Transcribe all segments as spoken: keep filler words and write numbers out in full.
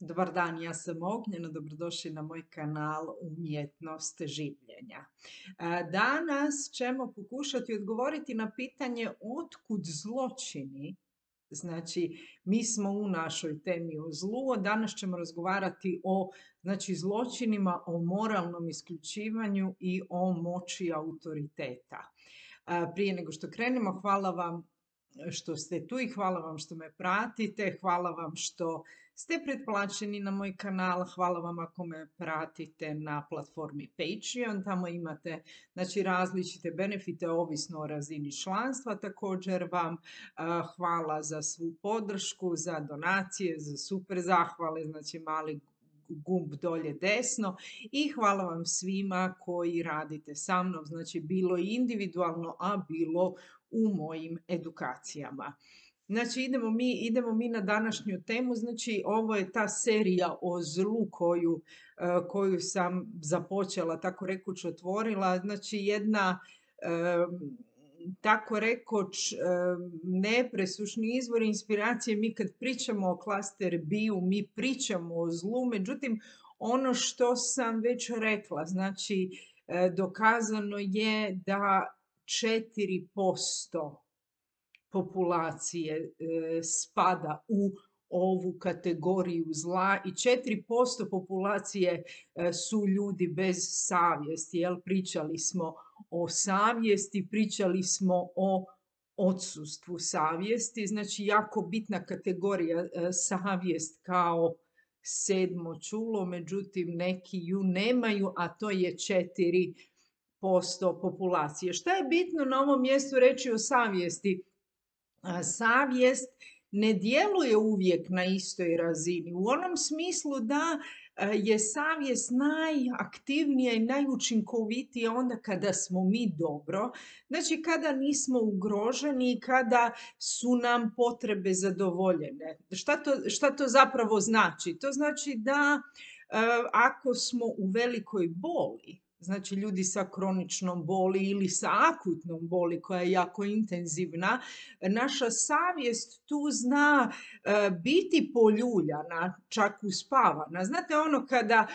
Dobar dan, ja sam Ognjena, dobrodošli na moj kanal Umjetnost življenja. E, Danas ćemo pokušati odgovoriti na pitanje otkud zločini. Znači, mi smo u našoj temi o zlu, a danas ćemo razgovarati o znači, zločinima, o moralnom isključivanju i o moći autoriteta. E, Prije nego što krenemo, hvala vam što ste tu i hvala vam što me pratite, hvala vam što ste pretplaćeni na moj kanal, hvala vam ako me pratite na platformi Patreon, tamo imate znači, različite benefite ovisno o razini članstva, također vam uh, hvala za svu podršku, za donacije, za super zahvale, znači mali gumb dolje desno i hvala vam svima koji radite sa mnom, znači bilo individualno, a bilo u mojim edukacijama. Znači idemo mi, idemo mi na današnju temu, znači ovo je ta serija o zlu koju, koju sam započela, tako rekuć otvorila, znači jedna tako rekoć nepresušni izvor inspiracije. Mi kad pričamo o klaster bio, mi pričamo o zlu, međutim ono što sam već rekla, znači dokazano je da četiri posto populacije spada u ovu kategoriju zla i četiri posto populacije su ljudi bez savjesti. Jel? Pričali smo o savjesti, pričali smo o odsustvu savjesti, znači jako bitna kategorija savjest kao sedmo čulo, međutim neki ju nemaju, a to je četiri posto populacije. Šta je bitno na ovom mjestu reći o savjesti? Savjest ne djeluje uvijek na istoj razini. U onom smislu da je savjest najaktivnija i najučinkovitija onda kada smo mi dobro, znači kada nismo ugroženi i kada su nam potrebe zadovoljene. Šta to, šta to zapravo znači? To znači da ako smo u velikoj boli, znači ljudi sa kroničnom boli ili sa akutnom boli koja je jako intenzivna, naša savjest tu zna e, biti poljuljana, čak uspavana. Znate ono kada,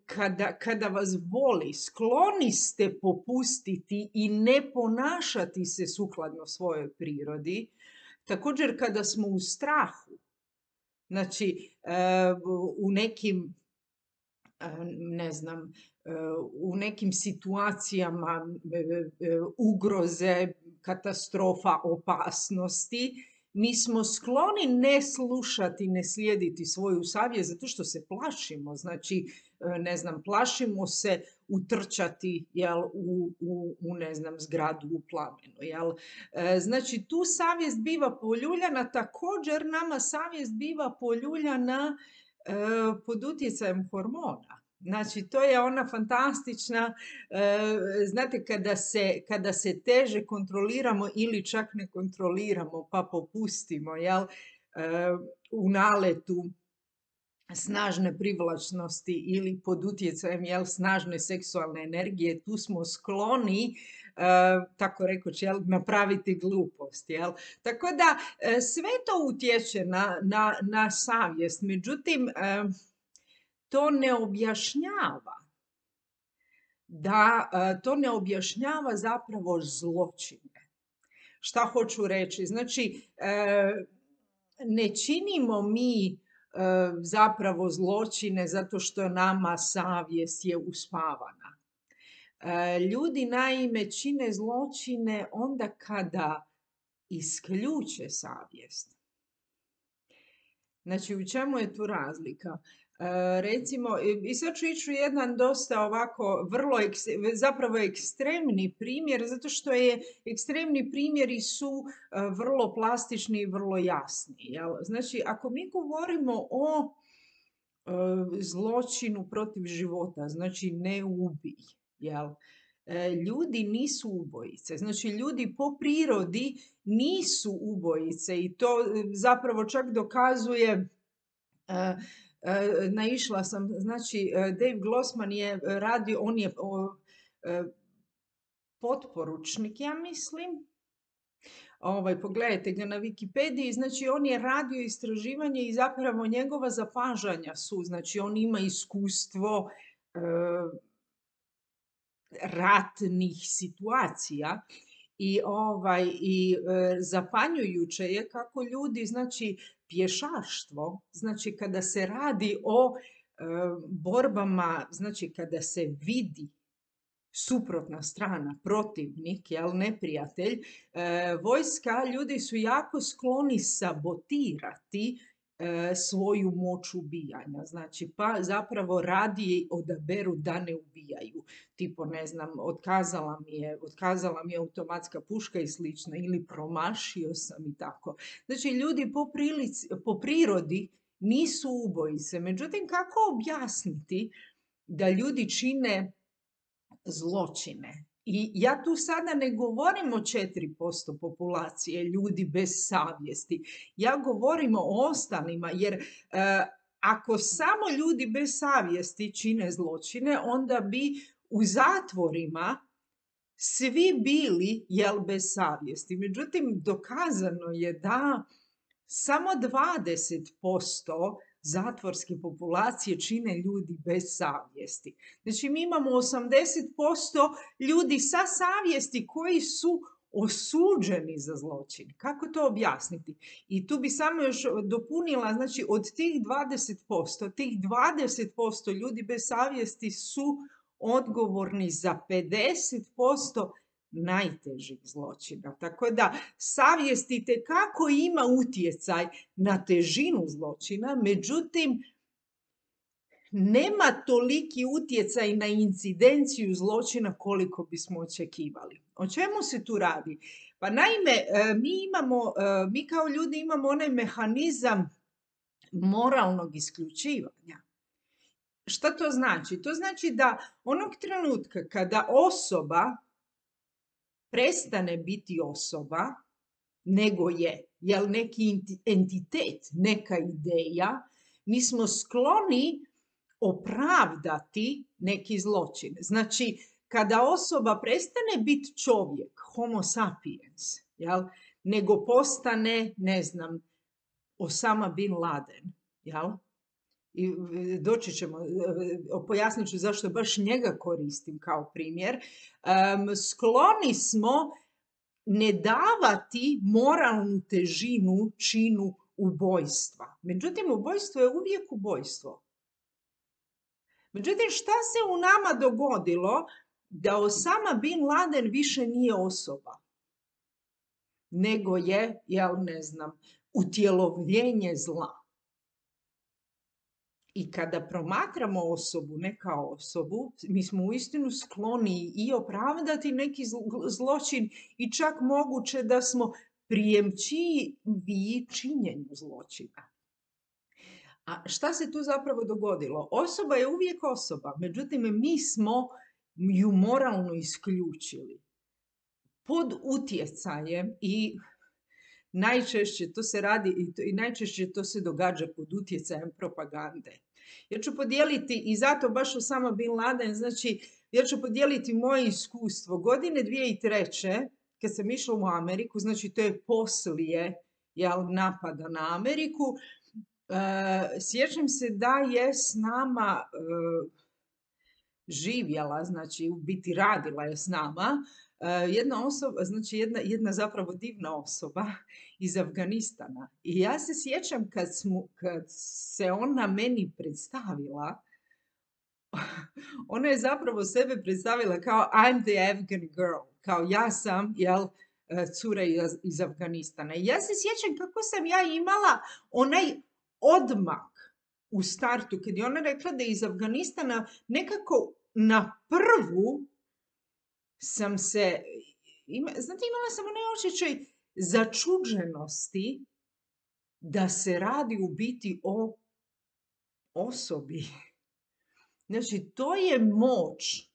kada, kada vas boli, skloni ste popustiti i ne ponašati se sukladno svojoj prirodi. Također kada smo u strahu, znači e, u nekim ne znam, u nekim situacijama ugroze, katastrofa, opasnosti, mi smo skloni ne slušati, ne slijediti svoju savjest zato što se plašimo. Znači, ne znam, plašimo se utrčati jel, u, u, u ne znam, zgradu u plamenu. Jel? Znači, tu savjest biva poljuljana, također nama savjest biva poljuljana pod utjecajem hormona. Znači, to je ona fantastična, znate, kada se, kada se teže kontroliramo ili čak ne kontroliramo, pa popustimo, jel, u naletu snažne privlačnosti ili pod utjecajem jel, snažne seksualne energije, tu smo skloni, uh, tako rekoć, jel, napraviti glupost. Jel? Tako da sve to utječe na, na, na savjest, međutim, uh, to ne objašnjava da uh, to ne objašnjava zapravo zločine. Šta hoću reći? Znači, uh, ne činimo mi zapravo zločine zato što nama savjest je uspavana. Ljudi naime čine zločine onda kada isključe savjest. Znači, u čemu je tu razlika? Recimo, i sad ću ići u jedan dosta ovako vrlo, zapravo ekstremni primjer, zato što je ekstremni primjeri su vrlo plastični i vrlo jasni. Jel? Znači, ako mi govorimo o zločinu protiv života, znači ne ubij, jel? Ljudi nisu ubojice, znači ljudi po prirodi nisu ubojice i to zapravo čak dokazuje. Naišla sam, znači Dave Glossman je radio, on je potporučnik, ja mislim, Ovaj, pogledajte ga na Wikipediji, znači on je radio istraživanje i zapravo njegova zapažanja su, znači on ima iskustvo e, ratnih situacija i ovaj i e, zapanjujuće je kako ljudi, znači pješaštvo, znači kada se radi o e, borbama, znači kada se vidi suprotna strana, protivnik, jel, neprijatelj, e, vojska, ljudi su jako skloni sabotirati e, svoju moć ubijanja. Znači, pa zapravo radije odaberu da ne ubijaju. Tipo, ne znam, otkazala mi je, otkazala mi je automatska puška i slično, ili promašio sam i tako. Znači, ljudi po, prilici, po prirodi nisu ubojice. Međutim, kako objasniti da ljudi čine zločine? I ja tu sada ne govorim o četiri posto populacije ljudi bez savjesti. Ja govorim o ostalima, jer e, ako samo ljudi bez savjesti čine zločine, onda bi u zatvorima svi bili, jel, bez savjesti. Međutim, dokazano je da samo dvadeset posto zatvorske populacije čine ljudi bez savjesti. Znači, mi imamo osamdeset posto ljudi sa savjesti koji su osuđeni za zločin. Kako to objasniti? I tu bi samo još dopunila, znači od tih dvadeset posto, tih dvadeset posto ljudi bez savjesti su odgovorni za pedeset posto najtežih zločina. Tako da savjest itekako ima utjecaj na težinu zločina, međutim nema toliki utjecaj na incidenciju zločina koliko bismo očekivali. O čemu se tu radi? Pa naime, mi imamo, mi kao ljudi imamo onaj mehanizam moralnog isključivanja. Šta to znači? To znači da onog trenutka kada osoba prestane biti osoba, nego je, jel, neki entitet, neka ideja, mi smo skloni opravdati neki zločin. Znači, kada osoba prestane biti čovjek, homo sapiens, jel, nego postane, ne znam, Osama bin Laden, jel? I doći ćemo, pojasnit ću zašto baš njega koristim kao primjer, um, skloni smo ne davati moralnu težinu činu ubojstva. Međutim, ubojstvo je uvijek ubojstvo. Međutim, šta se u nama dogodilo da Osama bin Laden više nije osoba, nego je, ja ne znam, utjelovljenje zla. I kada promatramo osobu, ne kao osobu, mi smo uistinu skloni i opravdati neki zločin i čak moguće da smo prijemčivi činjenju zločina. A šta se tu zapravo dogodilo? Osoba je uvijek osoba, međutim mi smo ju moralno isključili pod utjecajem i najčešće to se radi i, to, i najčešće to se događa pod utjecajem propagande. Ja ću podijeliti, i zato baš Osama bin Laden, znači ja ću podijeliti moje iskustvo. Godine dvije tisuće treće kad sam išla u Ameriku, znači to je poslije, jel, napada na Ameriku, uh, sjećam se da je s nama uh, živjela, znači u biti radila je s nama, Uh, jedna osoba, znači jedna, jedna zapravo divna osoba iz Afganistana. I ja se sjećam kad, smo, kad se ona meni predstavila, ona je zapravo sebe predstavila kao I'm the Afghan girl, kao ja sam, jel, cura iz, iz Afganistana. I ja se sjećam kako sam ja imala onaj odmak u startu, kad je ona rekla da je iz Afganistana, nekako na prvu sam se, ima, znate, imala sam onaj osjećaj začuđenosti da se radi u biti o osobi. Znači, to je moć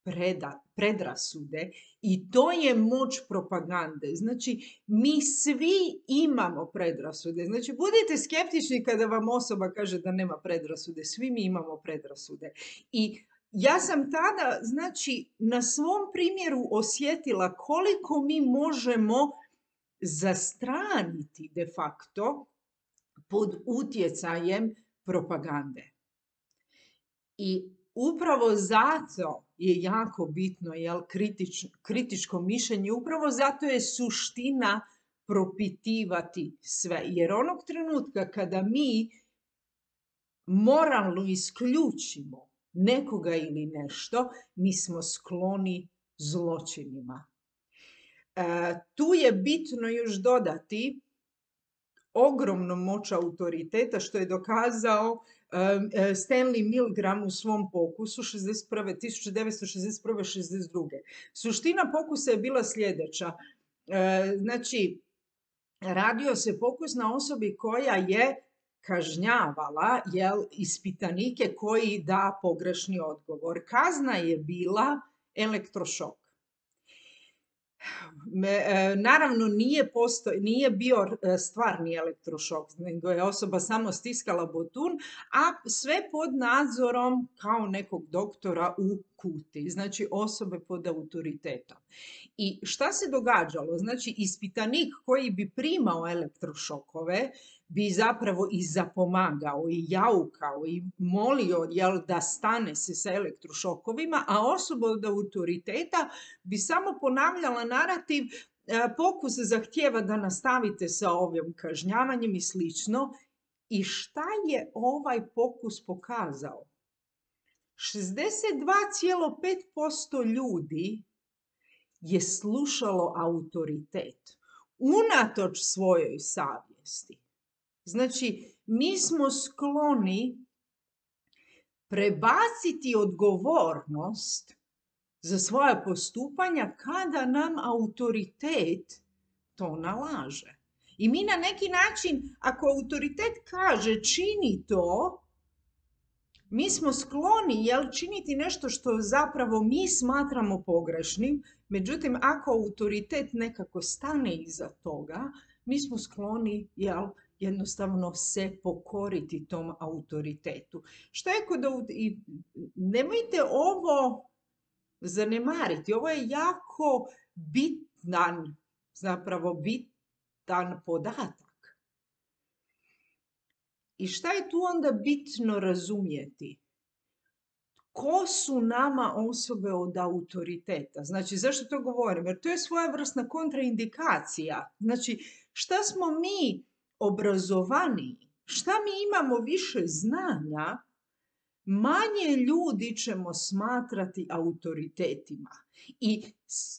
preda, predrasude i to je moć propagande. Znači, mi svi imamo predrasude. Znači, budite skeptični kada vam osoba kaže da nema predrasude. Svi mi imamo predrasude. I ja sam tada, znači, na svom primjeru osjetila koliko mi možemo zastraniti de facto pod utjecajem propagande. I upravo zato je jako bitno, jel, kritič, kritičko mišljenje, upravo zato je suština propitivati sve. Jer onog trenutka kada mi moralno isključimo nekoga ili nešto, mi smo skloni zločinima. E, tu je bitno još dodati ogromnu moć autoriteta, što je dokazao Stanley Milgram u svom pokusu tisuću devetsto šezdeset prve šezdeset druge Suština pokusa je bila sljedeća. Znači, radio se pokus na osobi koja je kažnjavala, jel, ispitanike koji da pogrešni odgovor. Kazna je bila elektrošok. Naravno, nije, postoj, nije bio stvarni elektrošok, nego je osoba samo stiskala botun, a sve pod nadzorom kao nekog doktora u kuti, znači osobe pod autoritetom. I šta se događalo? Znači, ispitanik koji bi primao elektrošokove bi zapravo i zapomagao i jaukao i molio, jel, da stane se sa elektrošokovima, a osoba od autoriteta bi samo ponavljala narativ, pokus zahtijeva da nastavite sa ovim kažnjavanjem i slično. I šta je ovaj pokus pokazao? šezdeset dva zarez pet posto ljudi je slušalo autoritet unatoč svojoj savjesti. Znači, mi smo skloni prebaciti odgovornost za svoje postupanja kada nam autoritet to nalaže. I mi na neki način, ako autoritet kaže čini to, mi smo skloni, jel, činiti nešto što zapravo mi smatramo pogrešnim, međutim, ako autoritet nekako stane iza toga, mi smo skloni, jel, jednostavno se pokoriti tom autoritetu. Što je kod i nemojte ovo zanemariti, ovo je jako bitan, zapravo bitan podatak. I šta je tu onda bitno razumjeti? Ko su nama osobe od autoriteta? Znači, zašto to govorim? Jer to je svojevrsna kontraindikacija. Znači, šta smo mi obrazovaniji, šta mi imamo više znanja, manje ljudi ćemo smatrati autoritetima i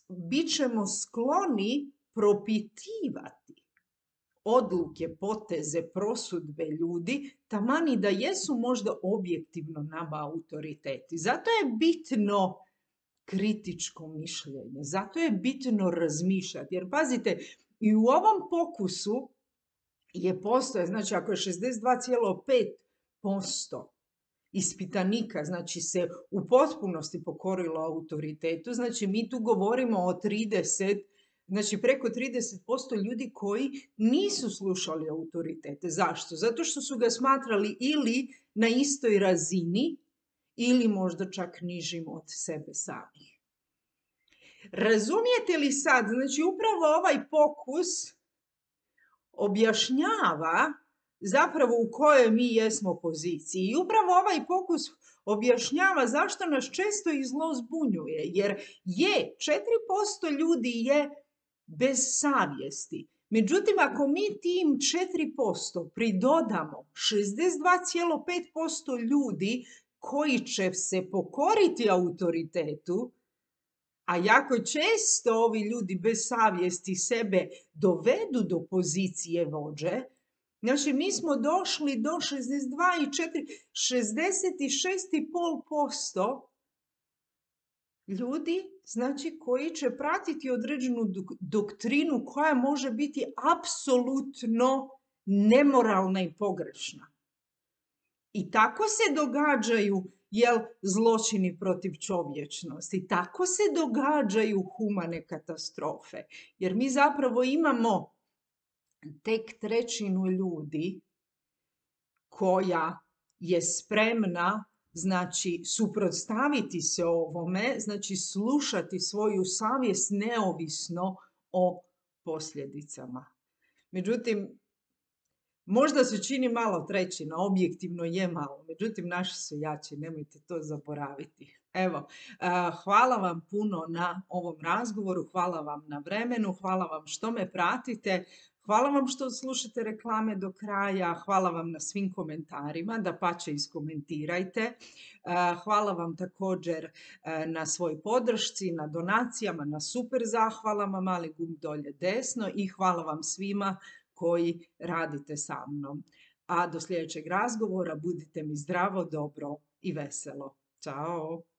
bit ćemo skloni propitivati odluke, poteze, prosudbe ljudi, taman da jesu možda objektivno nama autoriteti. Zato je bitno kritičko mišljenje, zato je bitno razmišljati. Jer pazite, i u ovom pokusu je postoje, znači ako je šezdeset dva zarez pet posto ispitanika, znači se u potpunosti pokorilo autoritetu, znači mi tu govorimo o trideset, znači preko trideset posto ljudi koji nisu slušali autoritete. Zašto? Zato što su ga smatrali ili na istoj razini ili možda čak nižim od sebe samih. Razumijete li sad? Znači upravo ovaj pokus objašnjava zapravo u kojoj mi jesmo poziciji. I upravo ovaj pokus objašnjava zašto nas često i zlo zbunjuje. Jer je, četiri posto ljudi je bez savjesti. Međutim, ako mi tim četiri posto pridodamo šezdeset dva zarez pet posto ljudi koji će se pokoriti autoritetu, a jako često ovi ljudi bez savjesti sebe dovedu do pozicije vođe, znači mi smo došli do šezdeset dva zarez četiri, šezdeset šest zarez pet posto ljudi, znači koji će pratiti određenu doktrinu koja može biti apsolutno nemoralna i pogrešna. I tako se događaju, jel, zločini protiv čovječnosti, tako se događaju humane katastrofe. Jer mi zapravo imamo tek trećinu ljudi koja je spremna, znači, suprotstaviti se ovome, znači slušati svoju savjest neovisno o posljedicama. Međutim, možda se čini malo trećina, objektivno je malo, međutim naši su jači, nemojte to zaboraviti. Evo, hvala vam puno na ovom razgovoru, hvala vam na vremenu, hvala vam što me pratite, hvala vam što slušate reklame do kraja, hvala vam na svim komentarima, dapače iskomentirajte. Hvala vam također na svoj podršci, na donacijama, na super zahvalama, mali gumb dolje desno i hvala vam svima koji radite sa mnom. A do sljedećeg razgovora budite mi zdravo, dobro i veselo. Ćao!